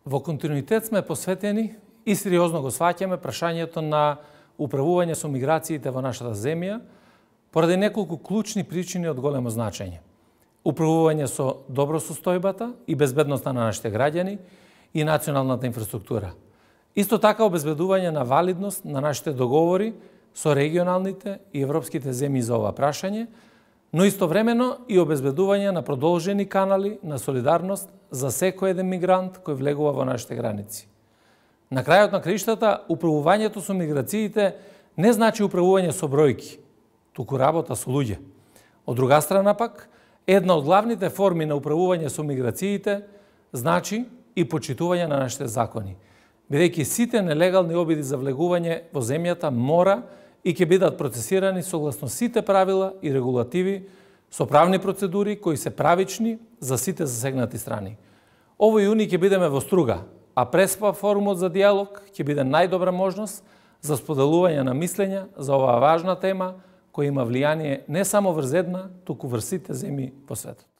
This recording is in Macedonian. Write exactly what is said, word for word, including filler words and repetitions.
Во континуитет сме посветени и сериозно го сваќаме прашањето на управување со миграциите во нашата земја, поради неколку клучни причини од големо значење. Управување со добросостојбата и безбедноста на нашите граѓани и националната инфраструктура. Исто така обезбедување на валидност на нашите договори со регионалните и европските земји за ова прашање, но истовремено и обезбедување на продолжени канали на солидарност за секој еден мигрант кој влегува во нашите граници. На крајот на краиштата, управувањето со миграциите не значи управување со бројки, туку работа со луѓе. Од друга страна пак, една од главните форми на управување со миграциите значи и почитување на нашите закони, бидејќи сите нелегални обиди за влегување во земјата мора и ќе бидат процесирани согласно сите правила и регулативи со правни процедури кои се правични за сите засегнати страни. Овој јуни ќе бидеме во Струга, а Преспа форумот за диалог ќе биде најдобра можност за споделување на мислења за оваа важна тема која има влијание не само врз една, туку врз сите земји по светот.